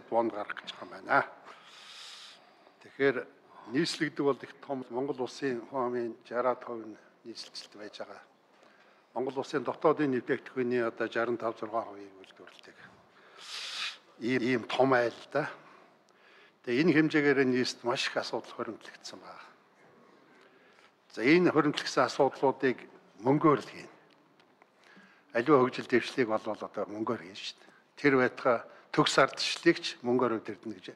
бонд гарах гэж байгаа юм байна. Тэгэхээр нийслэгдэг бол их том Монгол улсын хүн амын 60% нь нийслэлцэлт байж байгаа. Монгол улсын дотоодын нэвтрэгдэхүүний одоо 65-6%-ийг үйлдвэрлэдэг. Ийм том айл да. Тэгээ энэ хэмжээгээр нийслэлд маш их асуудал хоригдлогдсон байна. За энэ хоригдлогдсон асуудлуудыг мөнгөөр л хийнэ. Аливаа хөгжил дэвшлиг бол одоо мөнгөөр хийн шүү дээ. Тэр байтугай төгс ардчлалыгч мөнгөөр өдөрдөн гэж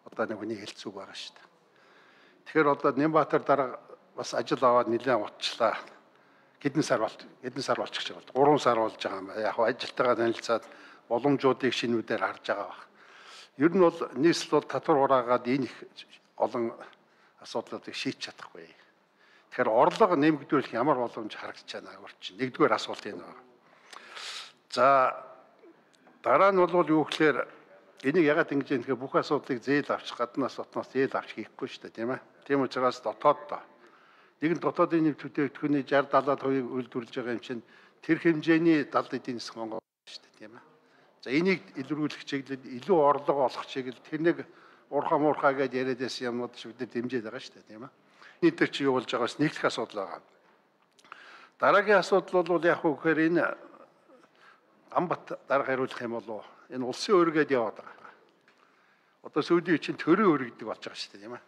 одоо нэг хүний хэлцүүг байгаа шүү дээ. Тэгэхээр одоо Нямбатар дарга бас ажил аваад нэлээд утчлаа. Хэдэн сар болчих жоо. 3 сар болж байгаа юм байна. Яг ажилтайгаа танилцаад боломжуудыг шинүүдээр харж байгаа баг. Ер нь бол нийслэл бол татвар ураагаад энэ их олон асуудлуудыг шийдэж чадахгүй. Тэгэхээр орлого нэмэгдүүлэх ямар боломж харагдаж байна өөрчлөн. Нэгдүгээр асуулт энэ байна. За дараа нь бол юу гэхээр энийг ягаад ингэж юм тэгэхээр бүх асуудлыг зээл авчих гаднаас дотноос зээл авчих хийхгүй шүү дээ, тийм ээ. Тийм учраас дотооддоо нэг нь дотоодын нэвт бүтээгдэхүүний 60-70%-ийг үйлдвэрлэж байгаа юм чинь тэр хэмжээний 70 эдийн засаг Монгол шүү дээ, тийм ээ. За энийг илрүүлэх чиглэлд илүү орлого олох чиглэл тэр нэг уурхаа муурхаа гэж яриад байсан юмнууд шиг бид дэмжиж байгаа шүү дээ, тийм ээ. Нийтээр чи юу болж байгаас нэгдэх асуудал байгаа. Дараагийн асуудал бол яг хөө гэхээр энэ Амбат дарга хариулах юм болов энэ улсын өргөд яваад байгаа. Одоо сүүлийн чинь төрийн өр гэдэг болж байгаа шүү дээ, тийм ээ.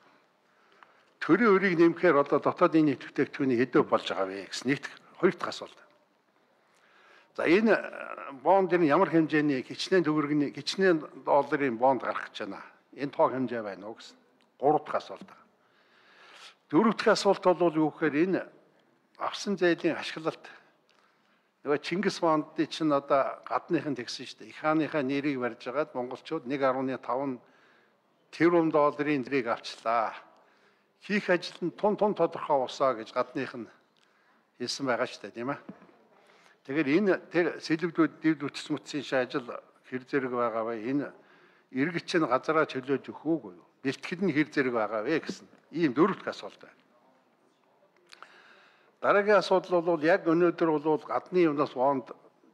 Төрийн өрийг нэмэхээр одоо дотоодын нийт бүтээгдэхүүний хэдөө болж байгаа вэ гэсэн нэгт хоёр дахь асуулт. За энэ бонд энэ ямар хэмжээний хичнээн төгрөгийн хичнээн долларын бонд гарах гэж байна. Энэ тоо хэмжээ байна уу гэсэн. Гурав дахь асуулт. Дөрөв дахь асуулт бол юу гэхээр энэ авсан зээлийн ашиглалт нөгөө Чингис бондын чинь одоо гадныхан тэгсэн шүү дээ. Их хааныхаа нэрийг барьж агаад монголчууд 1.5 тэрбум долларын нэрийг авчлаа. Хийх ажил нь тун тодорхой усаа гэж гадных нь хэлсэн байгаа шүү дээ, тийм ээ. Тэгэхээр энэ тэр сэлбэгдүүд дэвд үтсмүтсийн ажил хэр зэрэг байгаа вэ? Энэ иргэд чинь газараа чөлөөж өгөх үгүй юу? Бэлтгэл нь хэр зэрэг байгаа вэ гэсэн ийм дөрөв дэх асуулт байна. Дараагийн асуудал бол яг өнөөдөр бол гадны юмнаас бонд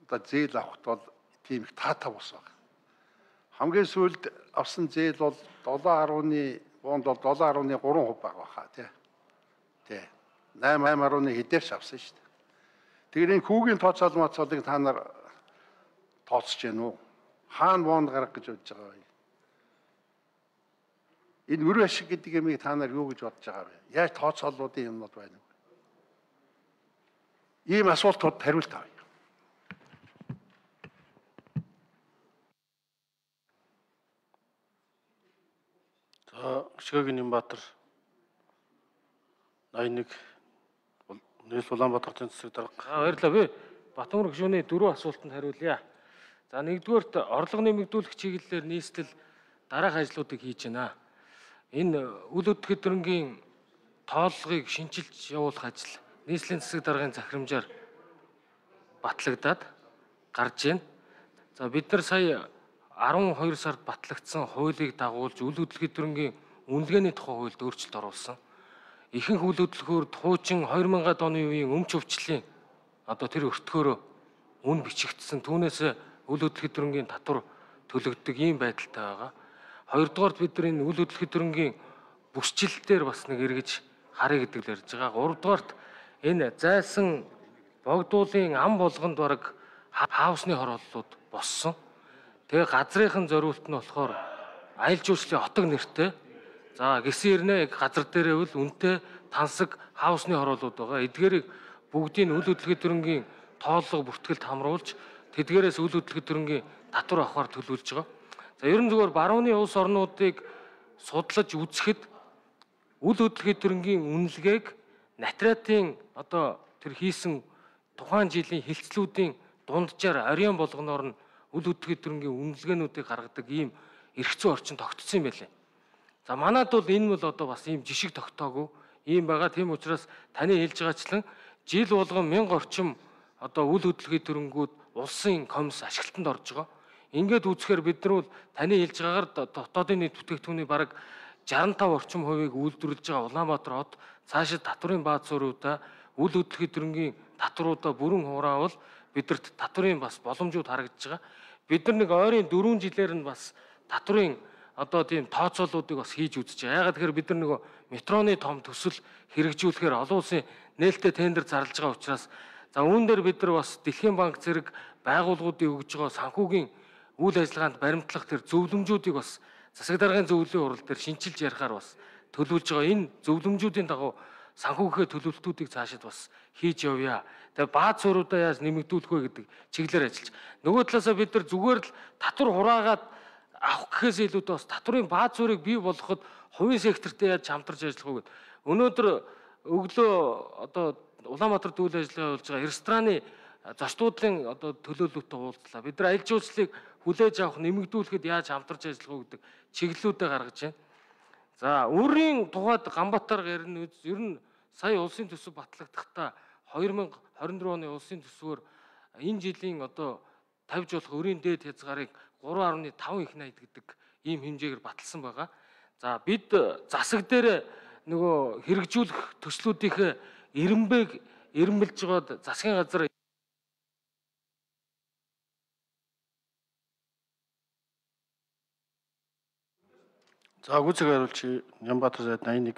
зээл авахд бол тийм их таатав ус байна. Хамгийн сүүлд авсан зээл бол 7.1 бонд бол 7.3% байгаа хаа тий. 8.1 хэдээрч авсан шүү дээ. Тэгэхээр энэ хүүгийн тооцоол моцоолыг та нар тооцож гэнэ үү? Хаана бонд гарах гэж бодож байгаа вэ? Энэ мөр ашиг гэдэг юмыг та нар юу гэж бодож байгаа вэ? Яаж тооцооллуудын юмнууд байна вэ? Ийм асуултууд хариулт авъя. За Шигагийн Нямбатар 81 Нэрэл Улаанбаатар тэнцвэр дарга. Баярлалаа. Би Батмөр гишүүний 4 асуултанд хариулъя. За нэгдүгээрт орлого нэмэгдүүлэх чиглэлээр нийслэл дараах ажлуудыг хийж байна. Энэ үл хөдлөлтөрөнгийн тооллогыг шинжилж явуулах ажил нийслэлийн засаг даргын захирамжаар батлагдаад гарч байна. За бид нар сая 12 сард батлагдсан хуулийг дагуулж үл хөдлөлтөрөнгийн үнэлгээний тухай хуульд өөрчлөлт оруулсан. Ихэнх үл хөдлөхөөрд хуучин 2000-ад оны үеийн өмч өвчлийн одоо тэр өртгөөрөө үн бичигдсэн түүнээс үл хөдлөлтөрөнгийн татвар төлөгддөг ийм байдалтай байгаа. Хоёрдугаард бид нар энэ үл хөдлөлтөрөнгийн бүсчлэлтээр бас нэг эргэж харъя гэдэг л ярьж байгаа. Гуравдугаарт энэ зайлсан богдуулын ам болгонд бараг хаусны хорооллууд боссон. Тэгээ газрынхын зориулт нь болохоор аялал жуулчлалын отог нэртэй. За гисэн ирнэ газар дээрээ үл үнэтэй тансаг хаусны хорооллууд байгаа. Эдгээрийг бүгдийг үл хөдлөлтөрөнгийн тооллого бүртгэлд хамруулж тэдгээрээс үл хөдлөлтөрөнгийн татвар авахар төлөвлөж байгаа. За ерөн зүгээр барууны улс орнуудыг судлаж үзэхэд үл хөдлөлтөрөнгийн үнэлгээг натриатын одоо тэр хийсэн тухайн жилийн хилцлүүдийн дунджаар ариун болгоноор нь үл хөдлөлтөрөнгийн үнэлгээнүүдийг гаргадаг ийм эрх зүйн орчин тогтцсон юм байлээ. За манайд бол энэ бол одоо бас ийм жишг тогтоогүй ийм байгаа. Тийм учраас таны хэлж байгаачлан жил болгон 1000 орчим одоо үл хөдлөлтөрөнгүүд улсын комисс ашиглалтанд орж байгаа. Ингээд үзэхээр бид нар бол таны хэлж байгаагаар дотоодын нийт бүтээгдэхүүний бараг 65% орчим хувийг үйлдвэрлэж байгаа Улаанбаатар хот цаашид татварын бааз зөрүүтэй үл хөдлөлтөрөнгийн татваруудаа бүрэн хураавал бидэрт татварын бас боломжууд харагдаж байгаа. Бид нар нэг ойрын 4 жилээр нь бас татврын одоо тийм тооцоолуудыг бас хийж үзэж байгаа. Ягаад тэгэхээр бид нар нөгөө метроны том төсөл хэрэгжүүлэхээр олон улсын нээлттэй тендер зарлаж байгаа учраас за үүн дээр бид нар бас Дэлхийн банк зэрэг байгууллагуудын өгж байгаа санхүүгийн үйл ажиллагаанд баримтлах тэр зөвлөмжүүдийг бас засаг даргын зөвлөлийн хурал дээр шинчилж ярихаар бас төлөвлөж байгаа. Энэ зөвлөмжүүдийн дагуу санхүүгийн төлөвлөлтүүдийг цаашид бас хийж явъя. Тэгээ бааз суурьудаа яаж нэмэгдүүлэх вэ гэдэг чиглэлээр ажиллаж. Нөгөө талаасаа бид нар зүгээр л татвар хураагаад авах гэхээс илүүтэй бас татврын бааз суурийг бий болгоход хувийн сектортэй яаж хамтарч ажиллах вэ гэдэг. Өнөөдөр өглөө одоо Улаанбаатар үйл ажиллагаа болж байгаа рестораны зочдуудлын одоо төлөөлөлтөд уулзлаа. Бид нар аль жуулчлалыг хүлээж авах нэмэгдүүлэхэд яаж хамтарч ажиллах вэ гэдэг чиглэлүүдээ гаргаж байна. За үрийн тухайд Ганбаатар ярина. Ер нь сая улсын төсөв батлагдахдаа 2024 оны улсын төсвөөр энэ жилийн одоо тавьж болох өрийн дээд хязгаарыг 3.5 их найд гэдэг ийм хэмжээгээр баталсан байгаа. За бид засаг дээр нөгөө хэрэгжүүлэх төслүүдийнхээ эренбэлж байгаад засгийн газар За гүцэг хариулч Нямбатар сайд 81.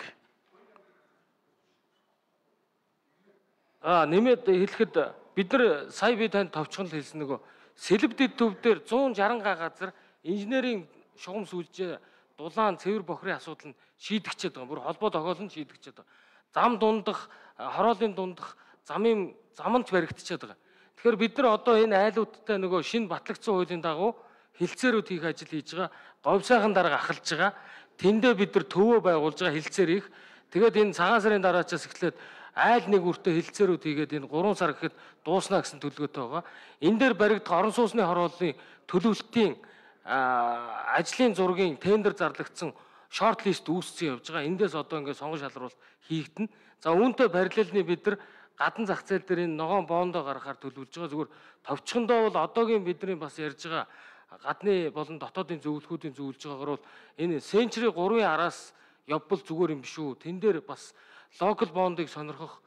Нэмээд хэлэхэд бид нар сая би танд товчхон л хэлсэн нөгөө сэлб дэд төв дээр 160 га газар инженерийн шугам сүлжээ дулаан цэвэр бохрын асуудал нь шийдэгчээд байгаа. Бүр холбоо тохиолн шийдэгчээд байгаа. Зам дундах, хороолын дундах замч баригдчихад байгаа. Тэгэхээр бид нар одоо энэ айлуудтай нөгөө шинэ батлагдсан хуулийн дагуу хилцээрүүд хийх ажил хийж байгаа. Говьсайхан дарга ахалж байгаа. Тэндээ бид нар төвөө байгуулж байгаа хилцээр их. Тэгээд энэ цагаан сарын дараачаас эхлээд айл нэг үртээ хилцээрүүд хийгээд энэ 3 сар гэхэд дууснаа гэсэн төлөвлөгөөтэй байгаа. Энэ дээр баригдах орон сууцны хорооллын төлөвлөлтийн ажлын зургийн тендер зарлагдсан шорт лист үүссэн явж байгаа. Эндээс одоо ингээд сонгон шалруулалт хийгдэнэ. За үүнтэй параллельны бид нар гадна зах зээл дээр энэ ногоон бондоо гаргахаар төлөвлөж байгаа. Зүгээр товчхондоо бол одоогийн бидний бас ярьж байгаа гадны болон дотоодын зөвлөхүүдийн зөвлөж байгаагаар бол энэ Century 3-ын араас явбал зүгээр юм биш үү. Тэн дээр бас локал бондыг сонирхох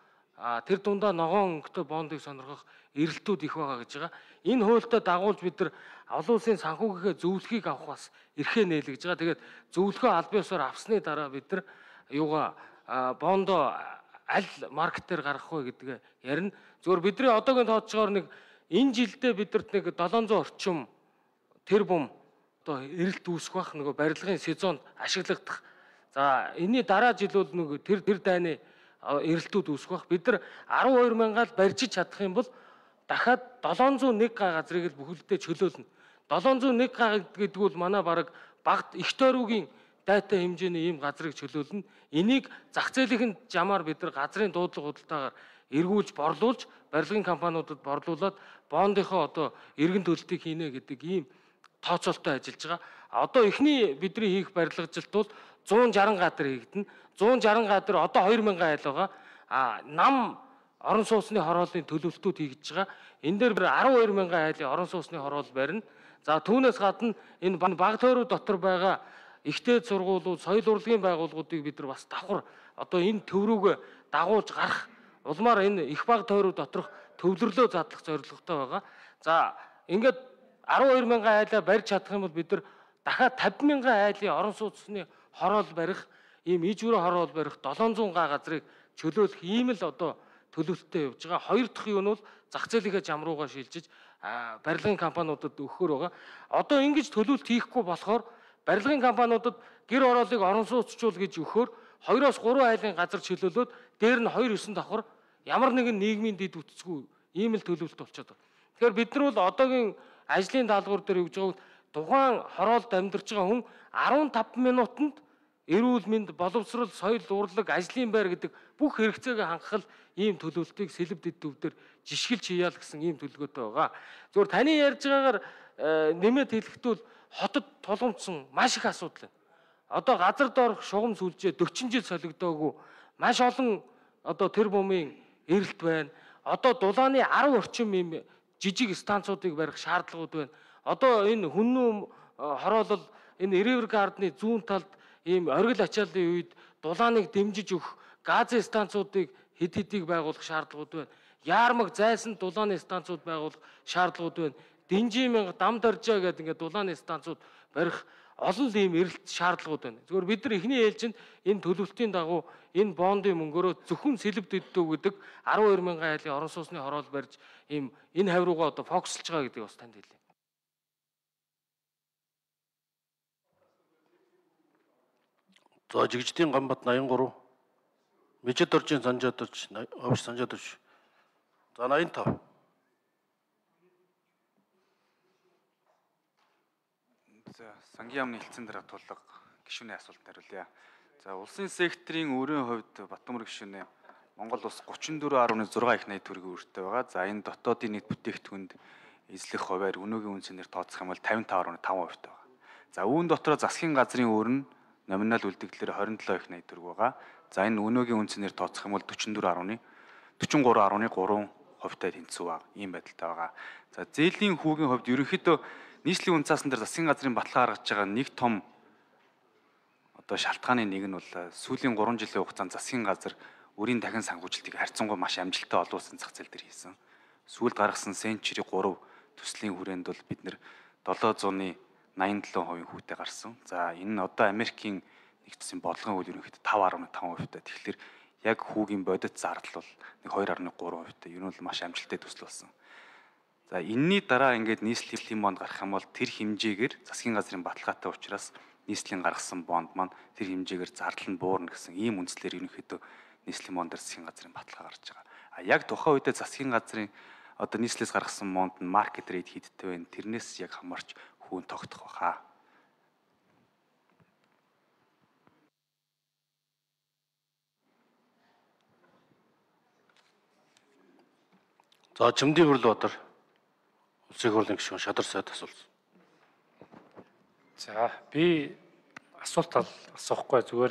тэр дундаа ногоон өнгөтэй бондыг сонирхох эрэлтүүд их байгаа гэж байгаа. Энэ хуультай дагуулж бид нар олон улсын санхүүгийнхээ зөвлөхийг авах бас эрхээ нээлгэж байгаа. Тэгээд зөвлөхөө аль биесээр авсны дараа бид нар юугаа бондоо аль маркетээр гаргах вэ гэдгээ ярина. Зөвхөн бидний одоогийн тооцоогоор нэг энэ жилдээ бидэрт нэг 700 орчим тэрбум одоо эрэлт үүсэх бах нөгөө барилгын сезонд ашиглагдах. За энэний дараа жил бол нөгөө тэр дайны эрэлтүүд үүсэх бах. Бид нар 12 мянгаал барьж чадах юм бол дахиад 701 га газрыг л бүхэлдээ чөлөөлнө. 701 га гэдэг бол манай бараг багт их тойргийн дайтай хэмжээний ийм газрыг чөлөөлнө. Энийг зах зээлийн жамаар бид нар газрын дуудлага худалдаагаар эргүүлж борлуулж барилгын компаниудад борлуулад бондынхоо одоо эргэн төлөлтийг хийнэ гэдэг ийм тооцоолтой ажиллаж байгаа. Одоо эхний бидний хийх барилгажилт бол 160 га дээр хийгдэнэ. 160 га дээр одоо 2000 айл байгаа. Нам орон сууцны хорооллын төлөвлөлтүүд хийгдэж байгаа. Энэ дээр 12 мянган айлын орон сууцны хороол барина. За түүнээс гадна энэ баг тойрог дотор байгаа ихтэй сургуулиуд, соёл урлагийн байгууллагуудыг бид нар бас давхар одоо энэ төв рүүгээ дагуулж гарах улмаар энэ их баг тойрог доторх төвлөрлөө задлах зорилготой байгаа. За ингээд 12 мянган айлаа барьж чадах юм бол бид нар дахиад 50 мянган айлын орон сууцны хороол барих, ийм ижүүрээ хороол барих 700 га газрыг чөлөөлөх ийм л одоо төлөвлөлтөд явж байгаа. Хоёр дахь юу нь бол зах зээлийнхээ зам руугаа шилжиж барилгын компаниудад өгөхөр байгаа. Одоо ингэж төлөвлөлт хийхгүй болохоор барилгын компаниудад гэр ороолыг орон сууцчуул гэж өгөхөр 2-3 айлын газар чөлөөлөөд дээр нь 2-9 давхар ямар нэгэн нийгмийн дэд үтцгүй ийм л төлөвлөлт болчиход байна. Тэгэхээр бид нар бол одоогийн ажлын даалгавар дээр өгж байгаа тухайн хороолд амьдарч байгаа хүн 15 минутанд эрүүл мэнд, боловсрол, соёл, урлаг, ажлын байр гэдэг бүх хэрэгцээгээ хангах ийм төлөвлөлтийг сэлб дэд төвдөр жишгэлж хийяа л гэсэн ийм төлөвлөгөөтэй байгаа. Зөвхөн таны ярьж байгаагаар нэмээд хэлэхдээ хотод тулгамдсан маш их асуудал байна. Одоо газар доорх шугам сүлжээ 40 жил солигдоогүй маш олон одоо тэр бумын эрэлт байна. Одоо дулааны 10 орчим ийм жижиг станцуудыг барих шаардлагууд байна. Одоо энэ хүннүү хороолол энэ River Garden-ы зүүн талд ийм оргил ачааллын үед дулааныг дэмжиж өгөх газын станцуудыг хэд хэдийг байгуулах шаардлагууд байна. Яармаг зайсан дулааны станцууд байгуулах шаардлагууд байна. Динжимэн дам даржаа гэдэг ингээд дулааны станцууд барих олон ийм эрэлт шаардлагууд байна. Зөвхөн бид нар эхний ээлжинд энэ төлөвлөлтийн дагуу энэ бондын мөнгөөрөө зөвхөн сэлб дэддүү гэдэг 12,000 айлын орон сууцны хороол барьж ийм энэ хавь руугаа одоо фокуслж байгаа гэдгийг бас танд хэлье. За Жигжидийн Гамбат 83, Мэжид оржийн Санжаадорж, Овш Санжаадорж. За 85. За сангийн яамны хэлцэн дараа тулга гишүүний асуултанд хариулъя. За улсын секторын өрийн хувьд Батбаатар гишүүнээ Монгол улс 34.6 их найд төгрөгийн үүрэгтэй байгаа. За энэ дотоодын нийт бүтээгдэхүүнд эзлэх хувиар өнөөгийн үнцээр тооцох юм бол 55.5% байгаа. За үүн дотроо засгийн газрын өөр нь номинал үлдэгдлэр 27 их найд төгрөг байгаа. За энэ өнөөгийн үнцээр тооцох юм бол 43.3% тэнцүү баг. Ийм байдалтай байгаа. За зээлийн хүүгийн хувьд ерөнхийдөө нийслэлийн үнцаасан дээр засгийн газрын баталгаа гаргаж байгаа нэг том одоо шалтгааны нэг нь бол сүүлийн 3 жилийн хугацаанд засгийн газар өрийн дахин санхүүжилтийг харьцангуй маш амжилттай олон улсын зах зээл дээр хийсэн. Сүүлд гаргасан Century 3 төслийн хүрээнд бол бид нэр 787% хүүтэй гарсан. За энэ нь одоо Америкийн нэгдсэн бодлогын үйл ерөнхийдөө 5.5%. Тэгэхээр яг хүүгийн бодит зардал бол нэг 2.3%. Ер нь бол маш амжилттай төсөл болсон. За энэний дараа ингээд нийслэлийн бонд гарах юм бол тэр хэмжээгээр засгийн газрын баталгаатай учраас нийслэлийн гаргасан бонд маань тэр хэмжээгээр зардал нь буурна гэсэн ийм үндслээр ерөнхийдөө нийслэлийн бондор засгийн газрын баталгаа гарч байгаа. А яг тухайн үедээ засгийн газрын одоо нийслэлээс гаргасан бонд нь маркет рейт хийдтэй байна. Тэрнээс яг хамаарч хүүн тогтох баха. За Чимдийн Хөрлөбатар улсын хурлын гишүүн Шадар сайд асуулт. За би асуулт асуухгүй зүгээр